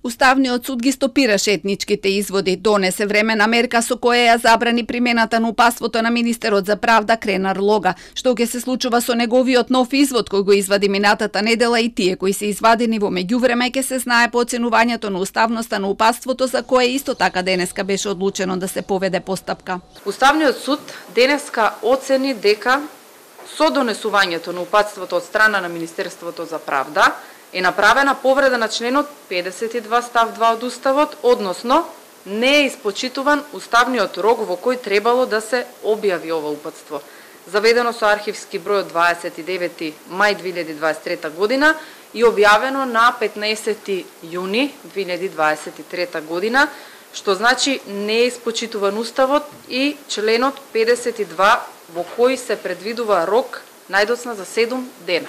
Уставниот суд ги стопираше етничките изводи, донесе времена мерка со која ја забрани примената на упатството на министерот за правда Кренар Лога. Што ќе се случува со неговиот нов извод кој го извади минатата недела и тие кои се извадени во меѓувреме ќе се знае по оценувањето на уставноста на упатството за кое исто така денеска беше одлучено да се поведе постапка. Уставниот суд денеска оцени дека со донесувањето на упатството од страна на Министерството за правда е направена повреда на членот 52 став 2 од Уставот, односно не е испочитуван уставниот рок во кој требало да се објави ова упатство. Заведено со архивски број од 29 мај 2023 година и објавено на 15 јуни 2023 година, што значи не е испочитуван Уставот и членот 52 во кој се предвидува рок најдоцна за 7 дена.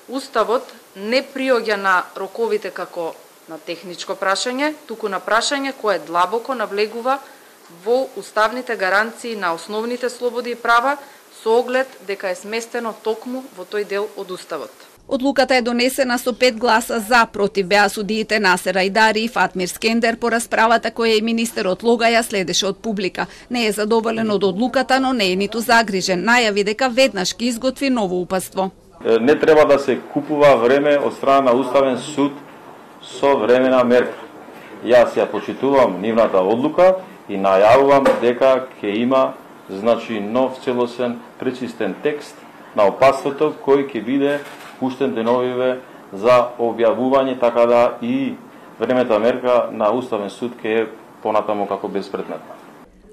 Уставот не приоѓа на роковите како на техничко прашање, туку на прашање кое длабоко навлегува во уставните гаранции на основните слободи и права со оглед дека е сместено токму во тој дел од Уставот. Одлуката е донесена со 5 гласа за, против беа судиите Насер Ајдари и Фатмир Скендер по расправата која и министерот Лога ја следеше од публика. Не е задоволен од одлуката, но не е ниту загрижен. Најави дека веднаш ќе изготви ново упатство. Не треба да се купува време од страна на Уставен суд со времена мерка. Јас ја почитувам нивната одлука и најавувам дека ќе има нов целосен пречистен текст на упатството кој ќе биде пуштен деновиве за објавување, така да и времето мерка на Уставен суд ќе е понатаму како безпредметна.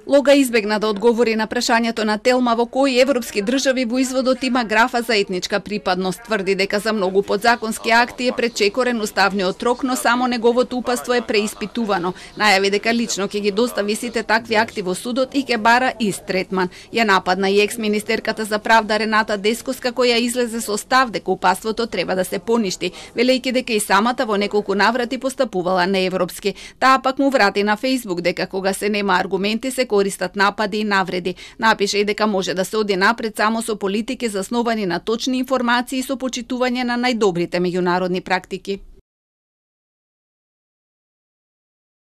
Лога избегна да одговори на прашањето на Телма во кои европски држави во изводот има графа за етничка припадност. Тврди дека за многу подзаконски акти е пречекорен уставниот рок, но само неговото упатство е преиспитувано. Најави дека лично ќе ги достави сите такви акти во судот и ќе бара ист третман. Ја нападна и екс-министерката за правда Рената Дескоска која излезе со став дека упатството треба да се поништи, велејќи дека и самата во неколку наврати постапувала неевропски. Таа пак му врати на Фејсбук дека кога се нема аргументи се користат напади и навреди. Напише и дека може да се оди напред само со политики засновани на точни информации и со почитување на најдобрите меѓународни практики.